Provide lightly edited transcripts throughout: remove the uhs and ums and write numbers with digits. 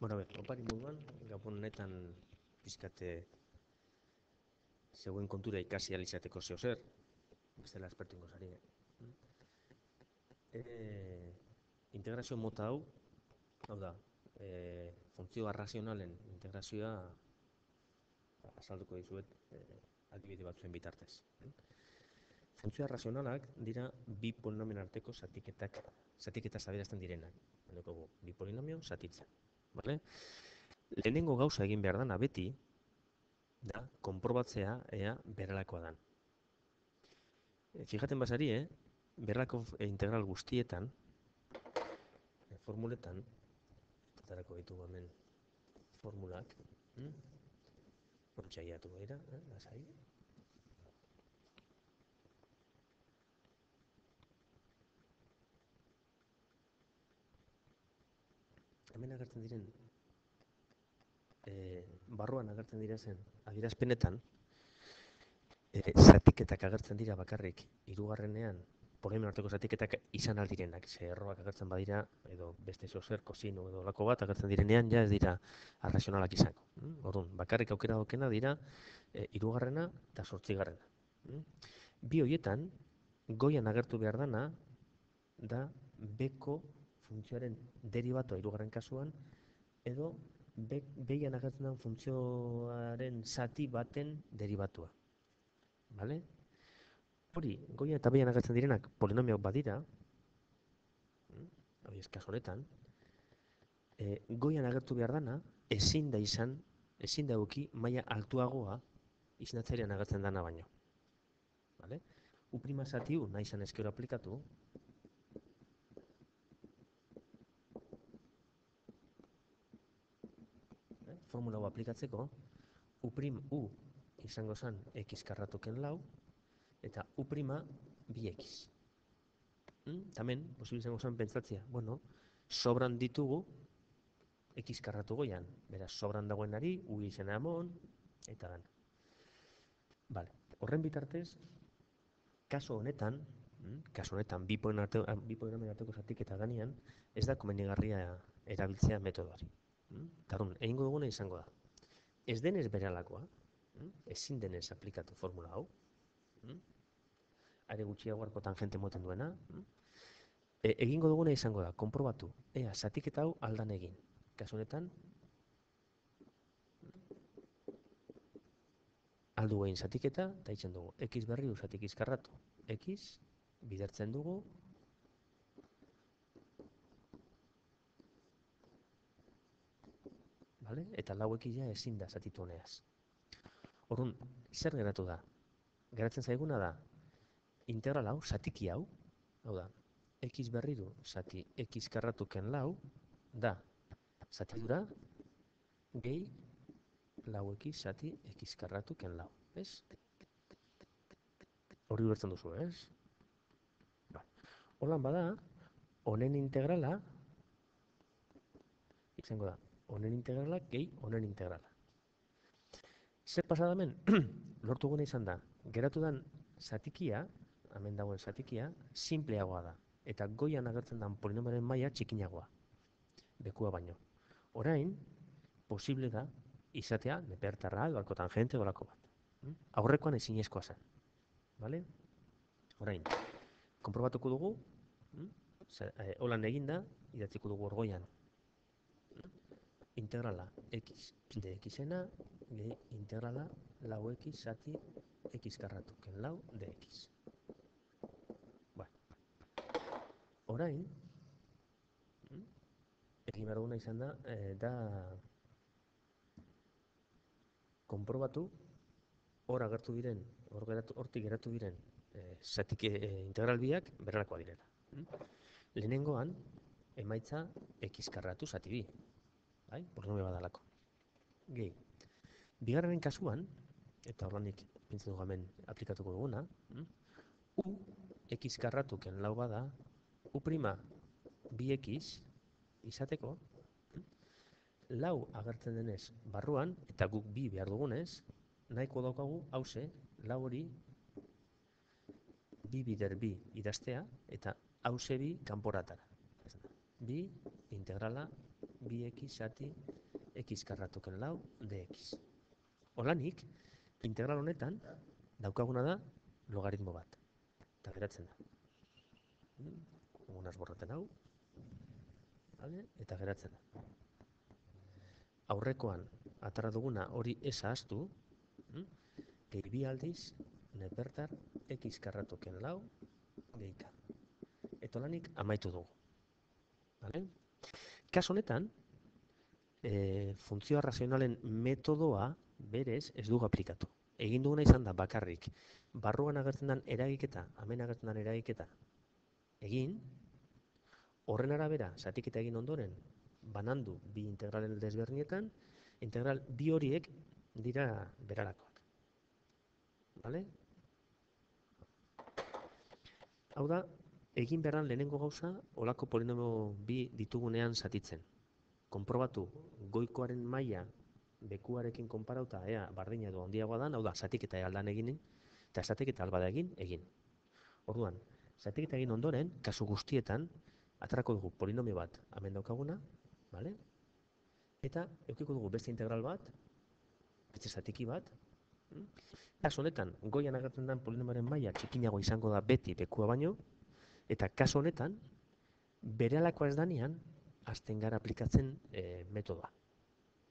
Opari moduan, gabon honetan pizkate zegoen kontura ikasi alizateko zeo zer, bestela espertu ingo zari. Integrazio mota hau da, funtzio arrazionalen integrazioa azalduko dizuet adibide batzuen bitartez. Funtzio arrazionalak dira bi polinomioen arteko zatiketa adierazten direnak. Bi polinomio zatitzen. Vale? Lehenengo gauza egin behar dana beti, da, konprobatzea ea berelakoa dan. Fijaten basari, berelako integral guztietan, formuletan, etarako ditugu hemen formulak, ontxaiatu gaira, lasai. Hemen agertzen diren, barruan agertzen direzen adierazpenetan, zatiketak agertzen dira bakarrik, hirugarrenean, polinomio arteko zatiketak izan aldirenak, ze erroak agertzen badira, edo beste zer, kosino edo lako bat agertzen direnean, ja ez dira arrazionalak izango. Orduan, bakarrik aukera daukena dira, hirugarrena eta 8. Bi horietan, goian agertu behar dana, da beko funtzioaren deribatoa hirugarren kasuan, edo behian agertzen den funtzioaren zati baten deribatua. Vale? Hori, goian eta behian agertzen direnak polinomioak badira, hori kasu honetan, goian agertu behar dana, ezin da eduki maila altuagoa izendatzailean agertzen dana baino. Vale? U' zati nahi izan ezkero aplikatu, formula hau aplikatzeko, U' izango zen x karratuken lau, eta U' 2x. Tamen, posible izango zen pentsatzea, sobran ditugu x karratu goian, beraz, sobran dagoenari, U izena amon, eta dan. Vale. Horren bitartez, kaso honetan, bi polinomioen arteko zatiketa danean, ez da komenigarria erabiltzea metodoari. Tarun, egingo duguna izango da. Ez denez berelakoa, ezin denez aplikatu formula hau, are gutxiago arko tangente moten duena, egingo duguna izango da, konprobatu, ea, zatiketa hau aldan egin. Kasu honetan, aldu egin zatiketa, eta itzen dugu, x berri zatik x karratu. X, bidertzen dugu, vale? Eta lau x ja ezin da zatitu honeaz. Orduan, zer geratu da? Geratzen zaiguna da, integral hau, zatiki hau da, x berriru zati x karratuken lau, da, zatidura, gehi, lau x zati x karratuken lau, ez? Hori ulertzen duzu, ez? Holan bada, honen integrala, izango da, honen integrala gehi honen integrala. Zer pasadamen, lortu gune izan da, geratu den zatikia, hemen dagoen zatikia, simpleagoa da. Eta goian agertzen den polinomioaren maila txikinagoa. Bekua baino. Orain, posible da, izatea, nepertarra, edo tangente, dolako bat. Aurrekoan ezinezkoa zen. Vale? Orain, konprobatuko dugu, holan eginda, idatziko dugu orgoian. Integrala x de xena, gehi integrala lau x zati x karratuken lau de x. Orain, egin behar duguna izan da, konprobatu, hortik geratu diren zatik integral biak berrelakoa direla. Lehenengoan, emaitza x karratu zati bi. Polinomio badalako. Gehi. Bigarren kasuan, eta horrenik pintzen dugu hemen aplikatuko duguna, U x karratuken lau bada, U' 2x izateko, lau agertzen denez barruan, eta guk bi behar dugunez, nahiko daukagu hauze, lau hori bi bider bi idaztea, eta hauze bi kanporatara. Bi integrala 2x zati x karratuken lau dx. Holanik, integral honetan, daukaguna da logaritmo bat. Eta geratzen da. Unaz borraten hau. Eta geratzen da. Aurrekoan, atara duguna hori ez ahaztu, gehi bi aldiz, nepertar x karratuken lau gehika. Eta holanik amaitu dugu. Kaso honetan, funtzio razionalen metodoa berez ez dugu aplikatu. Egin duguna izan da bakarrik, barruan agertzen den eragiketa, hemen agertzen den eragiketa, egin, horren arabera, zatiketa egin ondoren, banandu bi integralen desberdinetan, integral bi horiek dira berarakoak. Bale? Hau da, egin beharran lehenengo gauza, olako polinomio bi ditugunean zatitzen. Konprobatu goikoaren maila bekuarekin konparauta ea bardina edo handiagoa dan, hau da, zatiketa aldan egin, eta zatiketa albada egin. Orduan, zatiketa egin ondoren, kasu guztietan, atarako dugu polinomio bat hemen daukaguna, bale? Eta eukiko dugu beste integral bat, beste zatiki bat. Kasu honetan, goian agertzen den polinomioaren maila txikinago izango da beti bekua baino, eta kasu honetan, berehalakoa ez danean, hasten gara aplikatzen metodoa.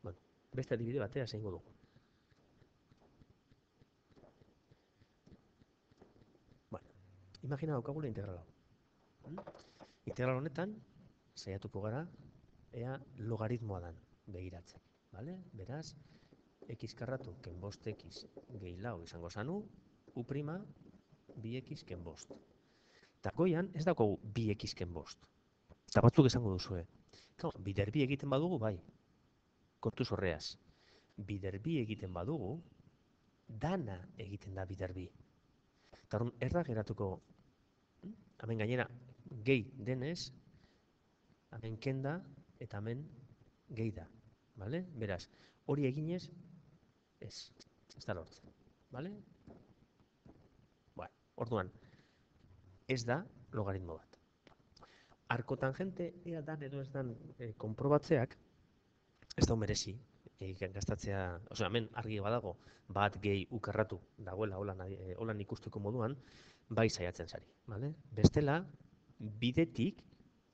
Bueno, beste adibide batea zeingo dugu. Bueno, imagina daukagula integral hau. Integral honetan, saiatuko gara, ea logaritmoa dan begiratzen. Beraz, x karratu ken bost x gehi lau izango zanu, u prima 2x ken bost. Eta goian ez daukagu 2x ken bost. Eta batzuk esango duzue. Bider bi egiten badugu, bai. Kontuz horreaz. Bider bi egiten badugu, dana egiten da bider bi. Eta horren erra geratuko, hemen gainera gehi denez, hemen kenda eta hemen gehi da. Beraz, hori eginez, ez da lortzen. Orduan, ez da logaritmo bat. Arkotangente ea dan edo ez dan konprobatzeak, ez da merezi, gastatzea, hemen argi badago, bat gehi ukarratu dagoela holan ikusteko moduan, bai saiatzen zari. Bestela, bidetik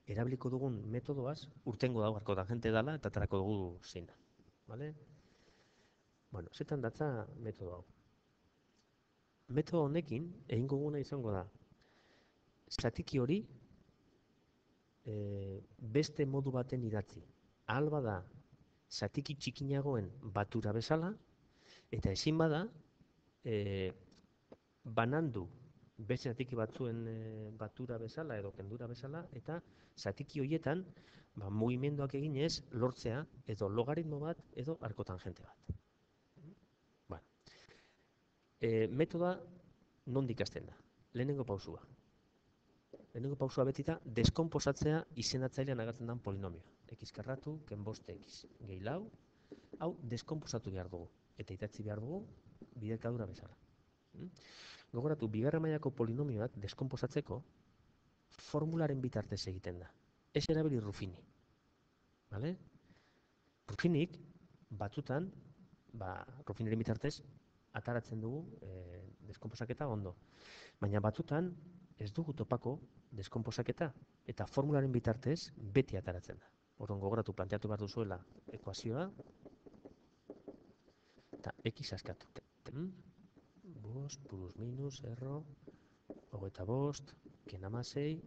erabiliko dugun metodoaz, urtengo dago arkotangente dela eta aterako dugu zein da. Bueno, zetan datza metodo hau. Metodo honekin, egingo duguna izango da, zatiki hori beste modu baten idatzi. Ahal bada, zatiki txikinagoen batura bezala, eta ezin bada, banandu beste zatiki batzuen batura bezala edo kendura bezala, eta zatiki horietan, mugimenduak eginez, lortzea edo logaritmo bat edo arkotangente bat. Metoda nondik hasten da? Lehenengo pausua. Lehenengo pausua beti da, deskonposatzea izendatzailean agertzen den polinomioa. X karratu, ken bost x. Gehi lau, hau deskonposatu behar dugu. Eta idatzi behar dugu, biderkadura bezala. Gogoratu, bigarren mailako polinomioak deskonposatzeko formularen bitartez egiten da. Ez erabili Ruffini. Ruffinik, batzutan, Ruffiniren bitartez, ataratzen dugu deskonposaketa ondo. Baina batzutan ez dugu topako deskonposaketa eta formularen bitartez beti ataratzen da. Orduan gogoratu planteatu behar duzuela ekuazioa eta x askatu. Bost plus minus erro hogeita bost ken hamasei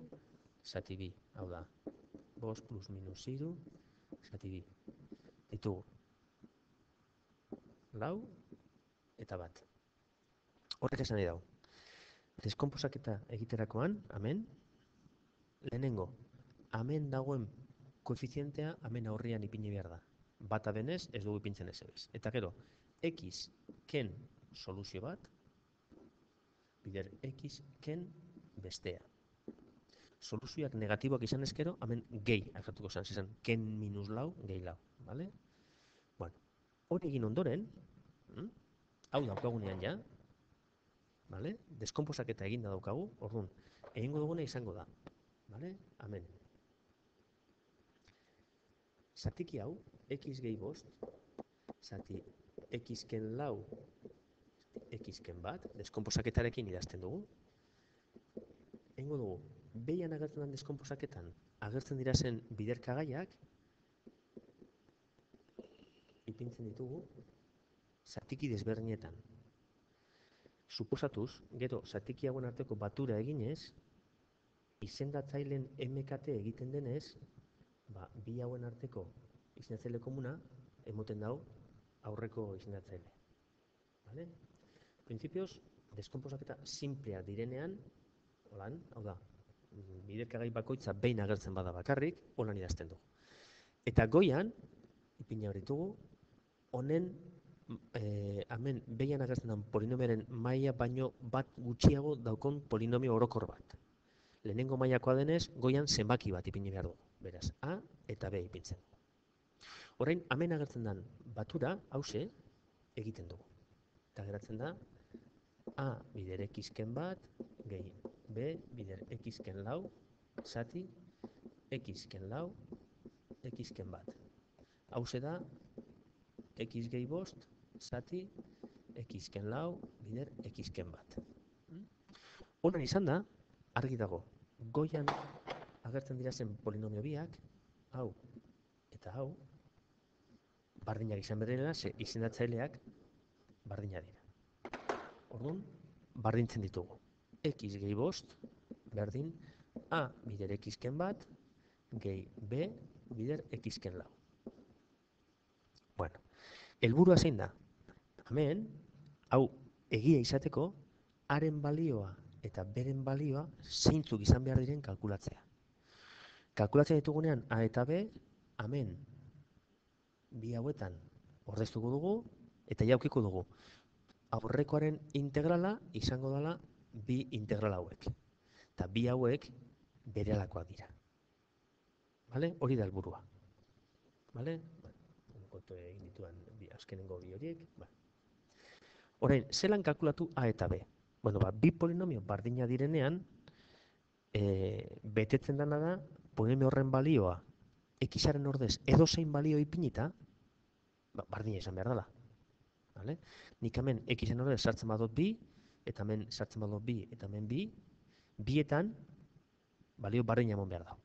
zati bi. Hau da, bost plus minus hiru zati bi. Ditugu lau eta bat. Horrek esan nahi dago. Deskonposaketa egiterakoan, hemen, lehenengo, hemen dagoen koefizientea hemen aurrian ipini behar da. Bata denez, ez dugu ipintzen ez ebez. Eta gero, x ken soluzio bat, bider x ken bestea. Soluzioak negatiboak izan ezkero, hemen gehi agertuko izan, ken minus lau, gehi lau. Hori egin ondoren, hau daukagunean ja, deskonposaketa eginda daukagu, orduan, egingo duguna izango da. Hemen. zatiki hau, x gehi bost, zati x-ken lau, x-ken bat, deskonposaketarekin idazten dugu. Egingo dugu, behian agertzen den deskonposaketan, agertzen dira zen biderkagaiak, ipintzen ditugu, zatiki desberdinetan. Suposatuz, gero, zatiki hauen arteko batura eginez, izendatzaileen MKT egiten denez, bi hauen arteko izendatzaile komuna, emoten dau aurreko izendatzaile. Vale? Printzipioz, deskonposaketa simplea direnean, holan, hau da, biderkagai bakoitza behin agertzen bada bakarrik, holan idazten dugu. Eta goian, ipina hor ditugu, honen, hemen behian agertzen den polinomioaren maila baino bat gutxiago daukon polinomio orokor bat. Lehenengo mailakoa denez, goian zenbaki bat ipini behar dugu. Beraz, A eta B ipintzen. Orain, hemen agertzen den batura, hause, egiten dugu. Eta geratzen da, A bider x-ken bat, gehi B bider x-ken lau, zati x-ken lau, x-ken bat. Hause da, x gehi bost, zati x-ken lau, bider x-ken bat. Honan izan da, argi dago, goian agertzen dira zen polinomio biak, hau eta hau, bardinak izan berrela, ze izendatzaileak bardinak dira. Orduan, bardintzen ditugu. X gehi bost, berdin, A bider x-ken bat, gehi B bider x-ken lau. Bueno, helburua zein da? Hemen, hau egia izateko, haren balioa eta beren balioa zeintzuk izan behar diren kalkulatzea. Kalkulatzen ditugunean A eta B, hemen bi hauetan ordeztuko dugu eta jaukiko dugu. Aurrekoaren integrala izango dela bi integral hauek. Eta bi hauek berelakoak dira. Vale? Hori da helburua. Vale? Kontu egin dituan azkenengo bi horiek. Orain, zelan kalkulatu A eta B? Bueno, bi polinomio bardina direnean, betetzen dena da, polinomio horren balioa x-aren ordez edozein balio ipinita, bardina izan behar dela. Vale? Nik hemen x-en ordez sartzen badot bi, eta hemen sartzen badot bi, eta hemen bi, bietan balio bardina emon behar da.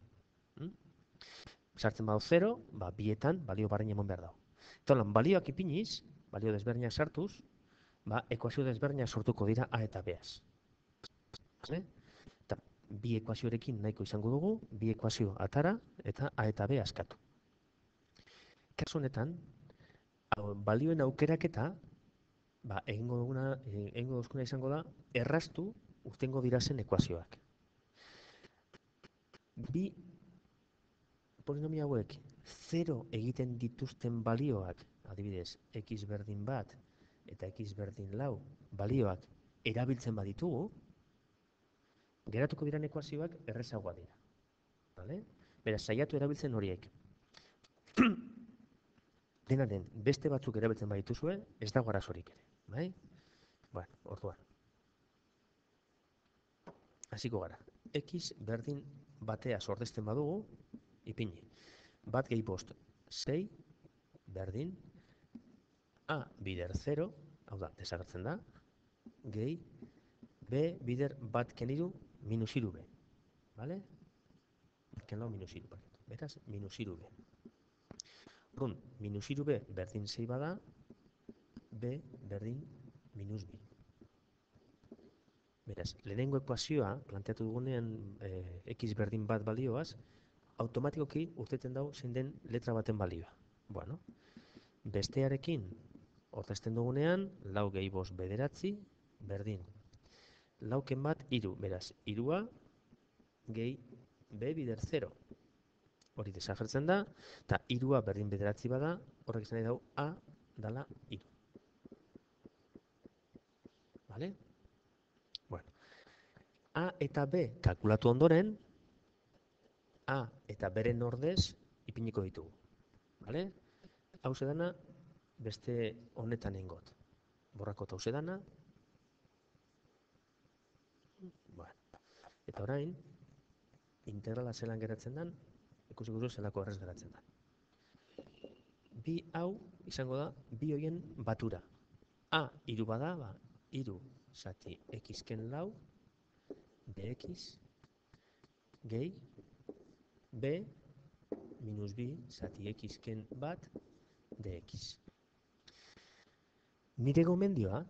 Sartzen badot 0, bietan balio bardina emon behar da. Eta lan, balioak ipiniz, balio desberdinak sartuz, ekuazio desberdinak sortuko dira A eta Baz. Eta bi ekuazioarekin nahiko izango dugu, bi ekuazio atara eta A eta B askatu. Kasu honetan, balioen aukeraketa, egingo duzkuna izango da, erraztu urtengo dirazen ekuazioak. Bi polinomio hauek 0 egiten dituzten balioak, adibidez, x berdin bat eta x berdin lau balioak erabiltzen baditugu, geratuko diren ekuazioak errezagoa dira. Vale? Beraz, saiatu erabiltzen horiek. Dena den, beste batzuk erabiltzen badituzue, ez dago arazorik ere. Bai? Bueno, orduan. Hasiko gara. X berdin batea ordezten badugu, ipini. Bat gehi bost, 6, berdin, A bider 0, hau da, desagertzen da, gehi, B bider bat keniru, minus iru B. Vale? Ken lau minus iru, beraz, minus iru B. Orduan, minus iru B berdin 6 bada, B berdin minus B. Beraz, lehenengo ekuazioa, planteatu dugunean x berdin bat balioaz, automatikoki urteten dau zein den letra baten balioa. Bueno, bestearekin ordezten dugunean, lau gehi bost bederatzi, berdin. Lauken bat, iru. Beraz, irua gehi B bider 0. Hori desagertzen da, eta irua berdin bederatzi bada, horrek izan nahi dau A dala iru. Vale? Bueno. A eta B kalkulatu ondoren, A eta beren ordez ipiniko ditugu. Vale? Hau dana beste honetan ingot. Borrako eta dana. Bueno. Eta orain, integrala zelan geratzen den, ikusiko duzu zelako errez geratzen den. bi hau izango da bi hoien batura. A hiru bada, hiru zati x-ken lau dx gehi b minus bi zati x-ken bat dx. Nire gomendioa,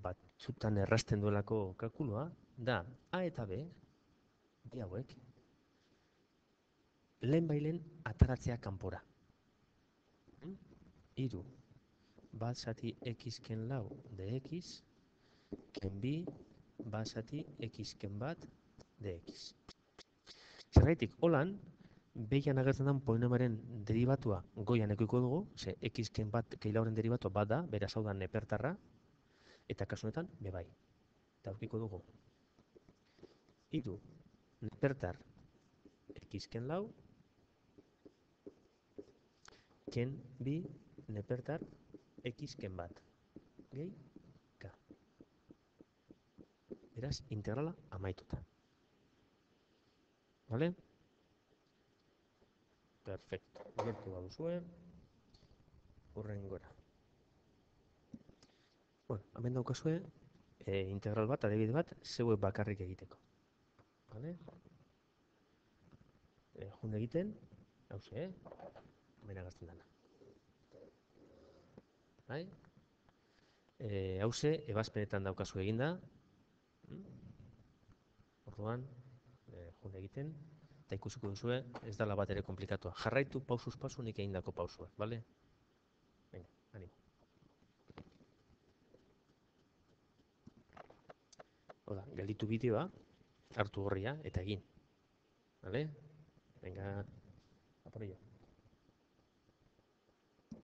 batzutan errasten duelako kalkulua, da A eta B, bi hauek, lehen bailen ataratzea kanpora. Hiru bat zati x-ken lau dx, ken bi bat zati x-ken bat dx. Zergaitik, holan, behian agertzen den polinomiaren derivatua goian ekoiko dugu, ze x-ken bat keilauren derivatua bat da, beraz hau da nepertarra, eta kasu honetan, bebai. Eta aurkiko dugu. Hiru nepertar x-ken lau, ken bi nepertar x-ken bat. Gehi, k. Beraz, integrala amaituta. Vale? Perfecto. Gertu baduzue, hurrengora. Bueno, hemen daukazue, integral bat, adibide bat, zeuek bakarrik egiteko. Vale? Jun egiten, hauze, hemen agazten dana. Bai? Hauze, ebazpenetan daukazu eginda. Orduan, jun egiten, eta ikusiko duzue, ez dala bat ere komplikatua. Jarraitu pausuz pausu nik egindako pausuak, bale? Venga, animo. Oda, gelditu bideoa, hartu horria eta egin. Bale? Venga, a por ello.